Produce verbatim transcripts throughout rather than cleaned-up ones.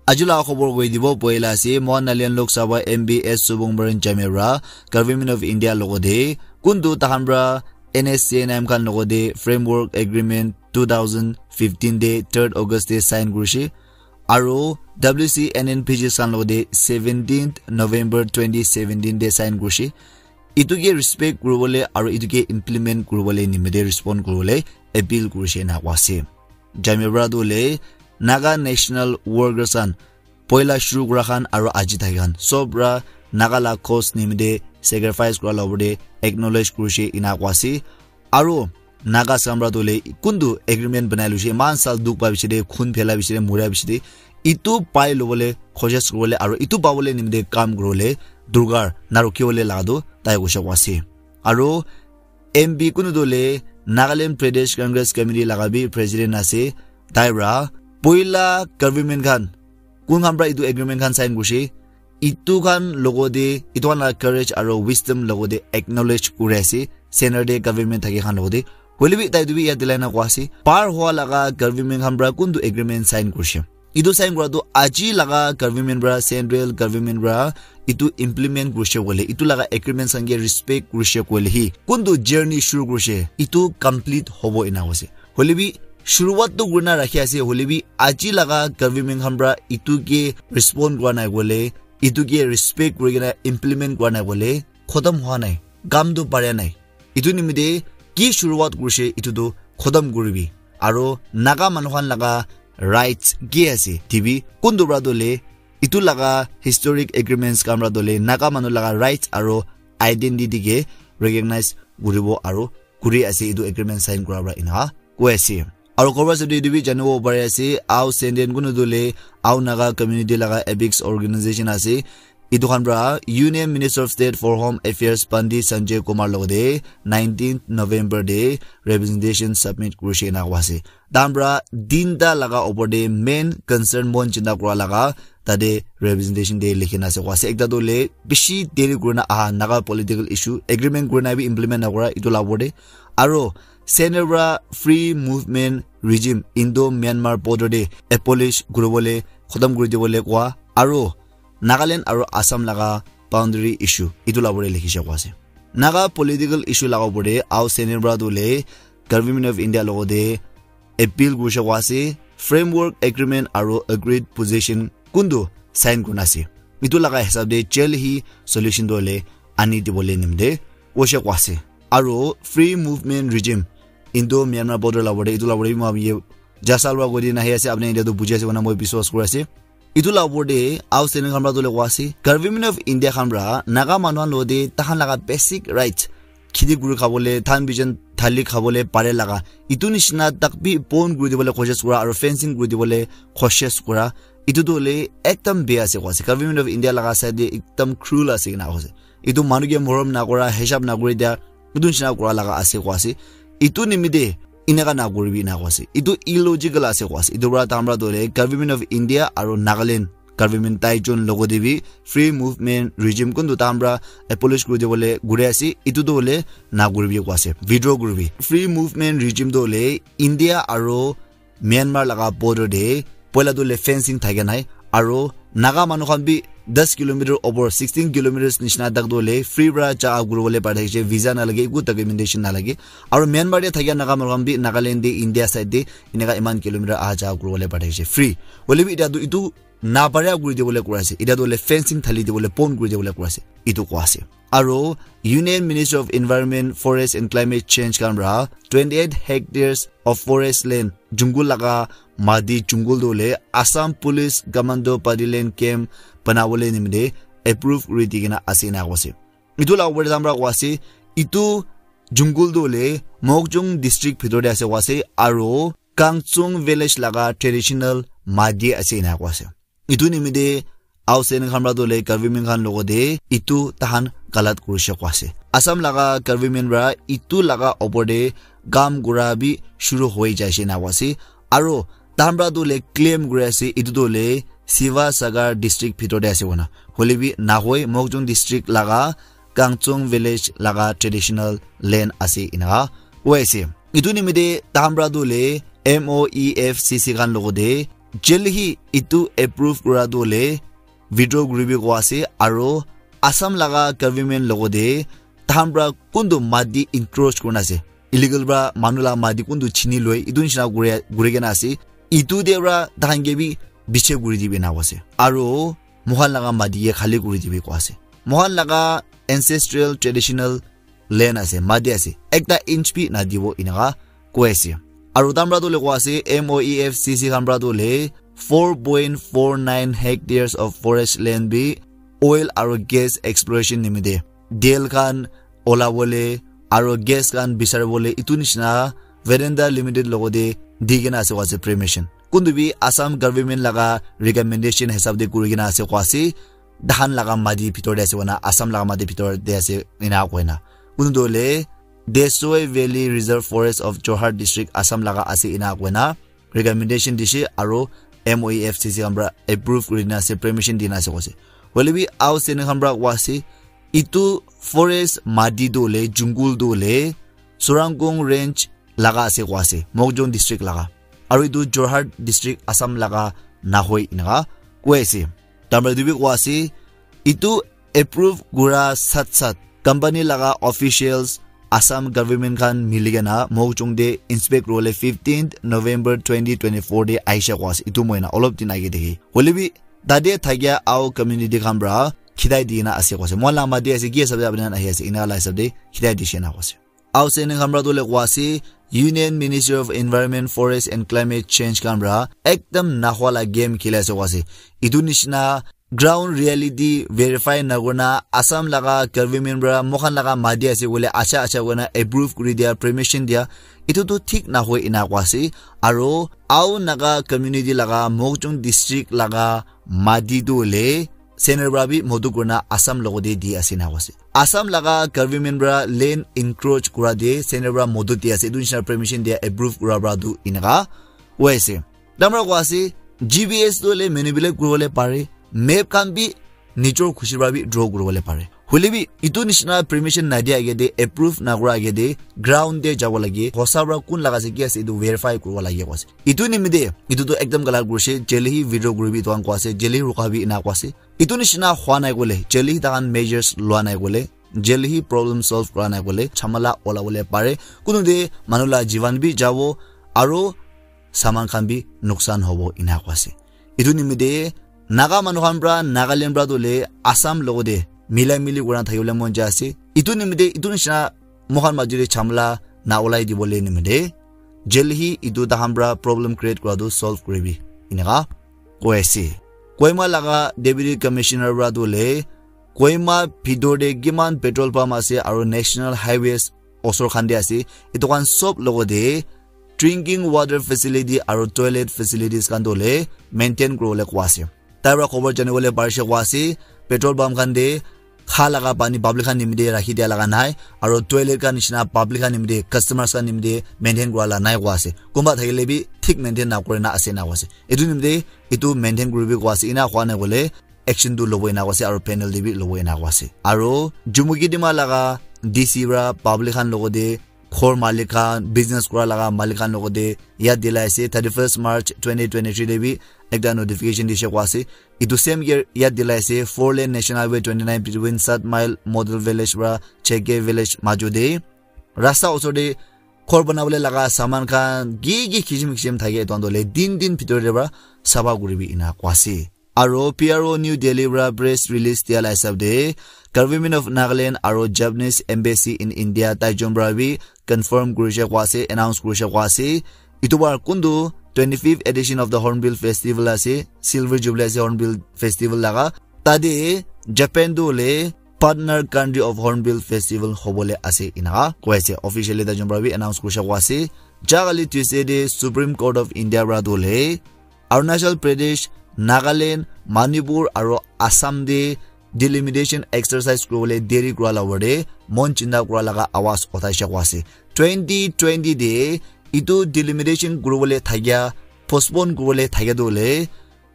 Aji la khobor koi dibo poila ase, Mohan Nalian Lok Sabha M P S Subung Baran Jamia pra Government of India logote kuntu tahan pra N S C N M khan logote Framework Agreement two thousand fifteen de third August de sign kurishe. Aro W C N N P G khan logote seventeenth November twenty seventeen de sign kurishe. Itu ke respect kuribole aro itu ke implement kuribole nimite respond kuribole appeal kurishe ena koa ase. Jamia pra tu le Naga National Workers khan poila shuru kura khan aro aji thaki khan sob pra Naga la cause nimite sacrifice kura la opor de acknowledge kurishe ena koa ase. Aro Naga samra tu le kuntu agreement banai luishe, iman sal dukh pa bishi de, khun phela bishi de, mura bishi de, itu pai lobole khojis kuribole aro itu pabole nimite kam kuribole durgar narukhibole laga tu tai koishe koa ase. Aro M P kunu tu le Nagaland Pradesh Congress Committee laga bi president ase, tai pra poila government khan kun khan pra itu agreement khan sign kurishe, itu khan logote, itu khan la courage aro wisdom logote acknowledge kuri ase, center te government thaki khan logote. Hoile bi tai tu bi yat dilai na koa ase, par hoa laga government khan pra kuntu agreement sign kurishe. Itu sign kura tu aji laga government pra, central government pra itu implement kurishe koile, itu laga agreement khan ke respect kurishe koile hi kuntu journey shuru kurishe, itu complete hobo ena koise. Hoile bi shuruwat tu kurina rakhi ase, hoile bi aji laga government khan pra itu ke respond kura nai koile, itu ke respect kuri kena implement kura nai koile, khotom hoa nai, kam tu paria nai. Itu nimite ki shuruwat kurishe, itu tu khotom kuribi. Aro Naga manu khan laga rights ki ase, tibi kuntu pra tu le, itu laga historic agreements khan pra tu le, Naga manu laga rights aro identity ke recognize kuribo aro kuri ase, itu agreement sign kura pra ena koi ase. Aro khobor sabi etu bi janibo pari ase, Ao Senden kunu tu le Ao Naga community laga apex organization ase. Etu khan pra Union Minister of State for Home Affairs Pandit Sanjay Kumar logote nineteenth November te representation submit kurishe ena koa ase. Tahan pra tinta laga opor te main concern mon chinta kura laga tate representation te likhi na ase koa ase. Ekta tu le bishi deri kurina aha Naga political issue agreement kurina bi implement nakura etu la opor te. Aro center pra free movement regime Indo Myanmar border te abolish kuribole khotom kuri dibole koa. Aro Nagaland aro Assam laga boundary issue etu la opor te likhishe koa ase. Naga political issue laga opor te Ao Senden pra tu le Government of India logote appeal kurishe koa ase, framework agreement aro agreed position kuntu sign kurina ase, etu laga hisab te jaldi hi solution tu le ani dibole nimite koishe koa ase. Aro free movement regime Indo Myanmar border la opor te, etu la opor te bi moi ye jasal wa koi dina ahi ase, apni etia tu buji ase koina moi biswas kuri ase. Etu la opor te Ao Senden khan pra tu le koa ase, Government of India khan pra Naga manu khan logote tahan laga basic rights, kheti kuri khabole, than bijan thali khabole pare laga, etu nishina tak bi bon kuri dibole koshish kura aro fencing kuri dibole koshish kura, etu tu hoile ekdam bia ase koa ase. Government of India laga side te ekdam cruel ase kena koa ase. Etu manu ke morom nakura, hisab nakuri dia, etu nishina kura laga ase koa ase. Etu nimite eneka nakuribi ena koa ase. Etu illogical ase koa ase. Etu pra tahan pra tu hoile Government of India aro Nagaland government tai jon logote bi free movement regime kuntu tahan pra abolish kuri dibole kuri ase, etu tu hoile nakuribi koa ase, withdraw kuribi. Free movement regime tu hoile India aro Myanmar laga border te poila tu hoile fencing thake nai, aro Naga manu khan bi ten kilometer opor, sixteen kilometers nishina tak tu hoile free pra ja kuribole pari thakishe, visa nalage, eku documentation nalage. Aro Myanmar te thakia Naga manu khan bi Nagaland te India side te eneka iman kilometer aha ja kuribole pari thakishe free. Hoile bi etia tu etu naparia kuri dibole kura ase. Etia tu hoile fencing thali dibole, bon kuri dibole kura ase, etu koa ase. Aro Union Ministry of Environment, Forest and Climate Change khan pra twenty eight hectares of forest land, jungle laga mati jungle tu hoile Assam Police Commando Paddy Lane Camp banabole nimite approve kuri di kena ase ena koa ase. Etu la opor te tahan pra koa ase, etu jungle tu hoile Mokokchung district bhitor te ase koa ase, aro Kangchung village laga traditional mati ase ena koa ase. Etu nimite Ao Senden khan pra tu hoile government khan logote etu tahan galat kurishe koa ase. Assam laga government pra etu laga opor te kam kura bi shuru hoi jaishe ena koa ase. Aro tahan pra tu hoile claim kuri ase etu tu hoile Sivasagar district bhitor te ase koina. Hoile bi nahoi, Mokokchung district laga Kangchung village laga traditional land ase eneka koi ase. Etu nimite tahan pra tu hoile M O E F C C khan logote Jaldi hi etu approve kura tu le withdraw kuribi koa ase, aro Assam laga government logote tahan pra kuntu mati encroach kurina ase, illegal pra manu laga mati kuntu chini loi, etu nishina kuri, kuri kena ase. Etu te pra tahan ke bi biche kuri dibi ena koa ase. Aro moikhan laga mati ke khali kuri dibi koa ase. Moikhan laga ancestral traditional land ase, mati ase, ekta inch bi nadibo enaka koi ase. Aro tahan pra tu le koa ase, M O E F C C khan pra tu le four point four nine hectares of forest land bi oil aro gas exploration nimite, tel khan ola bole aro gas khan bisari bole etu nishina Vedanta Limited logote di kena ase koa ase permission. Kuntu bi Assam government laga recommendation hisab te kuri kena ase koa ase. Tahan laga mati bhitor te ase koina, Assam laga mati bhitor te ase ena koina. Kuntu le Desoi Valley Reserve Forest of Jorhat District, Assam laga ase ena koina recommendation dishe aro M O E F C C khan pra approve kuri na ase, permission di na ase koa ase. Hoile bi Ao Seni khan pra koa ase, etu forest mati tu le, jungle tu le, Surangkung Range laga ase koa ase, Mokokchung district laga. Aro etu Jorhat district, Assam laga nahoi enaka koi ase. Tahan pra etu bi koa ase, etu approve kura sat sat company laga officials Assam government khan mili kena Mokokchung te inspect kuribole fifteenth November twenty twenty-four te aisha koa ase. Etu moi na olop din age dekhi. Hoile bi tate thakia Ao community khan pra khitai di na ase koa ase. Moikhan laga mati ase, ki hisab te apni khan ahi ase, ena laga hisab te khitai dishe na koa ase. Ao Seni khan pra tu le koa ase, Union Ministry of Environment, Forest and Climate Change khan pra ekdam nahwa la game kheli ase koa ase. Etu nishina ground reality verify na kurina Assam laga government pra moikhan laga mati ase koile acha acha koina approve kuri dia, permission dia, etu tu thik nahoi ena koa ase. Aro Ao Naga community laga Mokokchung district laga mati tu le center pra bi motu kurina Assam logote di ase ena koa ase. Assam laga government pra land encroach kura te center pra motu di ase, etu nishina permission dia approve kura pra tu enaka koi ase. Tahan pra koa ase, G P S tu le manipulate kuribole pare, map khan bi nijor khushi pra bi draw kuribole pare. Hoile bi etu nishina permission nadia age te, approve nakura age te ground te jabo lage, hosa pra kun laga ase, ki ase, etu verify kuribo lage koa ase. Etu nimite etu tu ekdam galat kurishe, jaldi hi withdraw kuribi etu khan koa ase, jaldi hi rukabi ena koa ase. Etu nishina hwa nai koile, jaldi hi tahan measures lua nai koile, jaldi hi problem solve kura nai koile, jhamala ola bole pare. Kuntu te manu laga jivan bi jabo, aro saman khan bi nuksan hobo ena koa ase. Etu nimite Naga manu khan pra, Nagaland pra tu le Assam logote mila mili kurina thakibole mon jai ase. Etu nimite etu nishina moikhan majo te jhamala na olai dibole nimite jaldi hi etu tahan pra problem create kura tu solve kuribi enaka koi ase. Kohima laga Deputy Commissioner pra tu le Kohima bhitor te kiman petrol pump ase aro National Highways osor khan te ase, etu khan sob logote drinking water facility aro toilet facilities khan tu le maintain kuribole koa ase. Tai pra khobor janibole parishe koa ase, petrol pump khan te kha laga pani public khan nimite rakhi dia laga nai, aro toilet khan nishina public khan nimite, customers khan nimite maintain kura la nai koa ase. Kunba thakile bi thik maintain na kurina ase ena koa ase. Etu nimite etu maintain kuribi koa ase, ena hwa nai koile action tu lobo ena koa ase, aro penalty bi lobo ena koa ase. Aro Jumukidima laga D C pra public khan logote ghor malik khan, business kura laga malik khan logote yad dilai ase, thirty-first March twenty twenty-three te bi ekta notification dishe koa ase. Etu same year yad dilai ase, four lane National Highway twenty-nine between Sat Mile Model Village pra Cheke Village majo te rasta osor te ghor banabole laga saman khan ki ki kisim kisim thake, etu khan tu le din din bhitor te pra sapha kuribi ena koa ase. Aro P R O New Delhi pra press release dia la hisab te, Government of Nagaland aro Japanese Embassy in India, Taichung pra bi confirm kurishe koa ase, announce kurishe koa ase. Etu bar kuntu twenty-fifth edition of the Hornbill Festival ase, Silver Jubilee ase Hornbill Festival laga. Tate Japan tu le partner country of Hornbill Festival hobole ase enaka koi ase. Officially Taichung pra bi announce kurishe koa ase. Jagali Tuesday te Supreme Court of India pra tu le Arunachal Pradesh, Nagaland, Manipur aro Assam te delimitation exercise kuribole deri kura la opor te mon chinta kura laga awaz uthaishe koa ase. Twenty twenty te etu delimitation kuribole thakia, postpone kuribole thakia tu le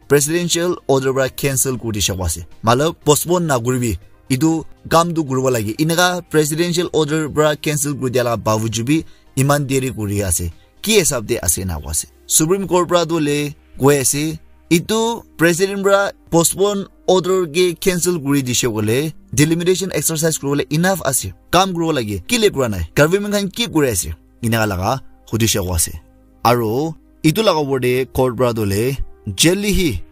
presidential order pra cancel kuri dishe koa ase. Matlab postpone na kuribi, etu kam tu kuribo lage. Enaka presidential order pra cancel kuri dia laga bawajud bi eman deri kuri ase. Ki hisab te ase ena koa ase. Supreme Court pra tu le Koi ase, itu president pra postpone order ke cancel kuri dishe koile, delimitation exercise kuribole enough ase. Kam kuribo lage, kile kura nai? Government khan ki kuri ase? Inaka laga hudishe ko ase. Aro itu laga opor te court pra tole jelly hi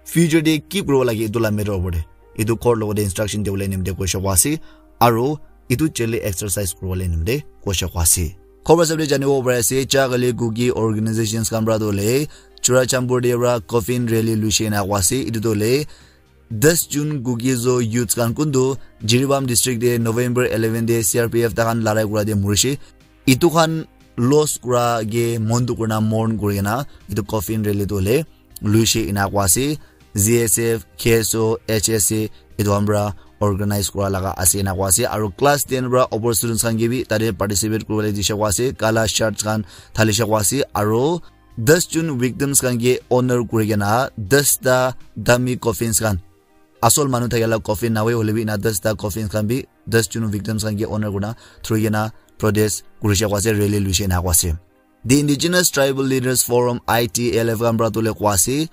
future te ki kuribo lage itu la matter opor te. Itu court logote instruction dibole nimite koishe ko ase. Aro itu jelly exercise kuribole nimite koishe ko ase. Khobor sabde janibo pari ase, Cha Kali Kuki organizations khan pra tole Churachandpur te pra coffin rally luishe ena ko ase. Itu tole das June Kuki Zo youths khan kuntu Jiribam district te November eleven te C R P F takhan larai kura te murishe. Itu khan loss kura ke mon dukh kurina mourn kurina itu coffin rally tu hole luishe ena ko ase. Z S F, K S O, H S A itu khan pra organize kura laga ase ena ko ase. Aro class ten pra upor students khan ke bi tate participate kuribole dishe ko ase. Kala shirts khan thalishe ko ase. Aro das June victims khan ke honor kuri kena das ta dummy coffins khan, asol manu thakila coffin nahoi hoile bi ena das ta coffins khan bi das June victims khan ke honor kurina through kena protest kurishe ko ase, rally luishe ena ko ase. The Indigenous Tribal Leaders Forum, I T L F khan pra tole ko ase,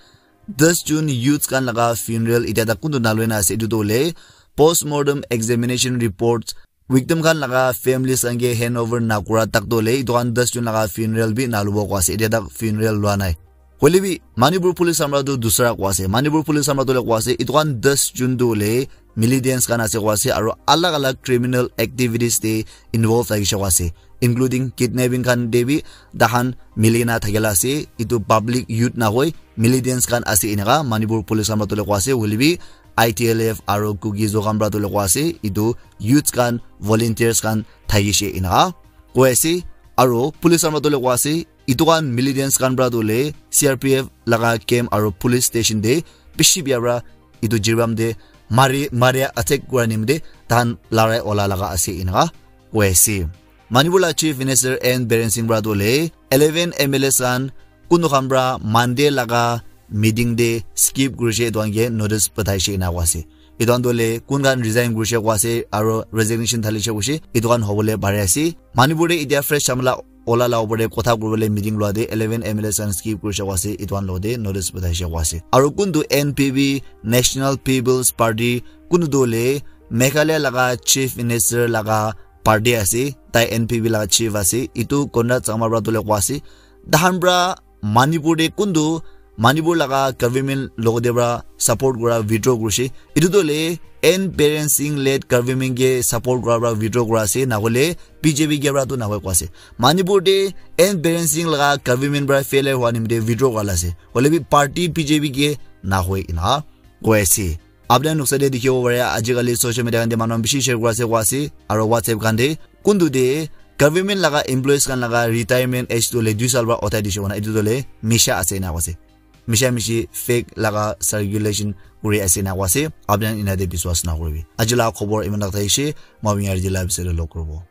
das June youths khan laga funeral itya tak kuntu naloi na ase, itu tole postmortem examination reports victim khan laga families khan ke hand over nakura tak tole itu khan das June laga funeral bi nalubo ko ase, itya tak funeral lua nai. Hoile bi Manipur police khan pra tu dusra ko ase. Manipur police khan pra tole ko ase, itu khan das June tu hole militants khan ase ko ase, aro alag alag criminal activities te involve thakishe ko ase, including kidnapping khan te bi takhan milikena thakila ase. Itu public youth nahoi, militants khan ase enaka Manipur police khan pra tole ko ase. Hoile bi I T L F aro Kuki Zo khan pra tole ko ase, itu youths khan, volunteers khan thakishe enaka koi ase. Aro police khan pra tole ko ase, itu khan militants khan pra tole C R P F laga camp aro police station te bishi bia pra itu Jiribam te mari, mari attack kura nimite takhan larai ola laga ase enaka koi ase. Manipur la Chief Minister N Biren Singh pra tole eleven M L As khan kuntu khan pra Monday laga meeting te skip kurishe itu khan ke notice pathaishe ena ko ase. Itu khan tole kun khan resign kurishe ko ase aro resignation thalishe koishe itu khan hobole pari ase. Manipur te itya fresh samla ola la opor te kotha kuribole meeting lua te eleven M L As khan skip kurishe ko ase, itu khan logote notice pathaishe ko ase. Aro kuntu N P P, National People's Party, kuntu tole Meghalaya laga Chief Minister laga party ase, tai N P P laga chief ase, itu Conrad Sangma pra tole ko ase. Takhan pra Manipur te kuntu Manipur laga government logote pra support kura withdraw kurishe. Itu tole N Biren Singh led government ke support kura pra withdraw kura ase, nahole B J P ke pra tu nahoi ko ase. Manipur te N Biren Singh laga government pra failure hua nimite withdraw kura la ase. Hoile bi party B J P ke nahoi ena koi ase. Apni khan noksa te dikhibo pare, ajikali social media khan te manu khan bishi share kura ase, koi ase, aro WhatsApp khan te kuntu te government laga employees khan laga retirement age tu le dui sal para uthai dishe koina, etu tu le misha ase ena koi ase. Misha mishi fake laga circulation kuri ase ena koi ase. Apni khan ena te biswas na kuribi. Aji laga khobor iman tak thakishi, moi apni khan yate live se log kuribo.